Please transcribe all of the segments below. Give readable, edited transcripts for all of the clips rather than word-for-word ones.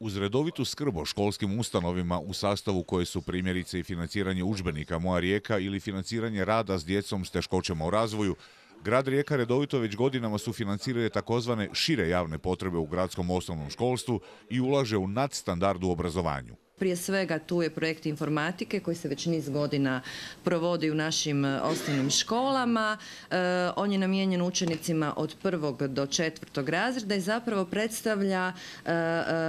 Uz redovitu skrb o školskim ustanovima u sastavu koje su primjerice i financiranje udžbenika Moja Rijeka ili financiranje rada s djecom s teškoćama u razvoju, grad Rijeka redovito već godinama sufinancira takozvane šire javne potrebe u gradskom osnovnom školstvu i ulaže u nadstandard u obrazovanju. Prije svega tu je projekt informatike koji se već niz godina provodi u našim osnovnim školama. On je namijenjen učenicima od 1. do 4. razreda i zapravo predstavlja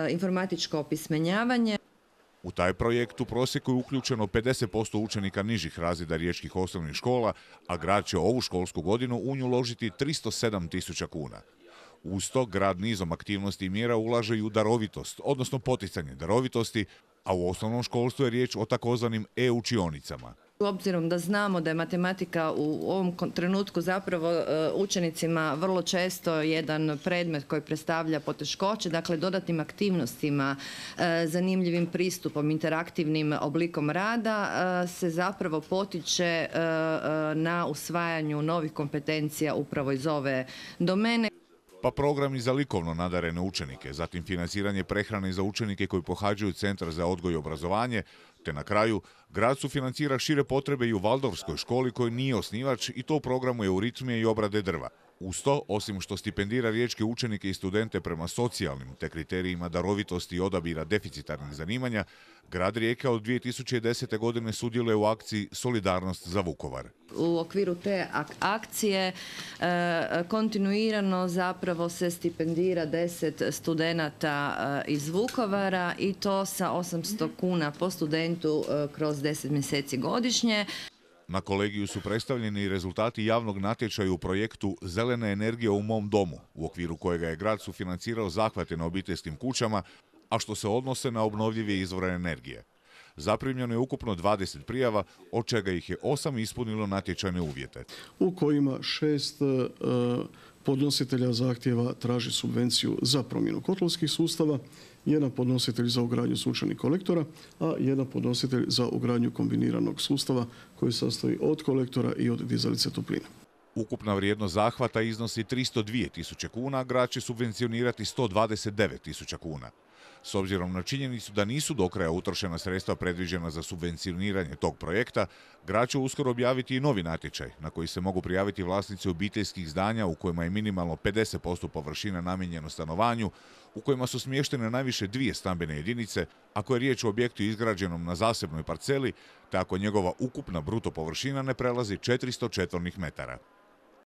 informatičko opismenjavanje. U taj projekt u prosjeku je uključeno 50% učenika nižih razreda riječkih osnovnih škola, a grad će ovu školsku godinu u nju uložiti 307.000 kuna. Uz to grad nizom aktivnosti i mjera ulaže i u darovitost, odnosno poticanje darovitosti, a u osnovnom školstvu je riječ o takozvanim e-učionicama. Obzirom da znamo da je matematika u ovom trenutku zapravo učenicima vrlo često jedan predmet koji predstavlja poteškoće, dakle dodatnim aktivnostima, zanimljivim pristupom, interaktivnim oblikom rada se zapravo potiče na usvajanju novih kompetencija upravo iz ove domene. Pa programi za likovno nadarene učenike, zatim financiranje prehrane za učenike koji pohađaju Centar za odgoj i obrazovanje, te na kraju grad sufinancira šire potrebe i u Valdorfskoj školi koji nije osnivač i to u programu euritmije i obrade drva. Uz to, osim što stipendira riječke učenike i studente prema socijalnim te kriterijima darovitosti i odabira deficitarnih zanimanja, grad Rijeka od 2010. godine sudjeluje u akciji Solidarnost za Vukovar. U okviru te akcije kontinuirano zapravo se stipendira 10 studenata iz Vukovara i to sa 800 kuna po studentu kroz 10 mjeseci godišnje. Na kolegiju su predstavljeni rezultati javnog natječaja u projektu Zelena energija u mom domu, u okviru kojega je grad sufinancirao zahvate na obiteljskim kućama, a što se odnose na obnovljive izvore energije. Zaprimljeno je ukupno 20 prijava, od čega ih je 8 ispunilo natječajne uvjete. U kojima 6 podnositelja zahtjeva traži subvenciju za promjenu kotlovskih sustava, jedan podnositelj za ugradnju sunčanih kolektora, a jedan podnositelj za ugradnju kombiniranog sustava koji se sastoji od kolektora i od dizalice topline. Ukupna vrijednost zahvata iznosi 302.000 kuna, a grad će subvencionirati 129.000 kuna. S obzirom na činjenicu da nisu do kraja utrošena sredstva predviđena za subvencioniranje tog projekta, grad će uskoro objaviti i novi natječaj na koji se mogu prijaviti vlasnici obiteljskih zdanja u kojima je minimalno 50% površina namijenjeno stanovanju, u kojima su smještene najviše 2 stambene jedinice, ako je riječ o objektu izgrađenom na zasebnoj parceli, te ako njegova ukupna bruto površina ne prelazi 400 četvornih metara.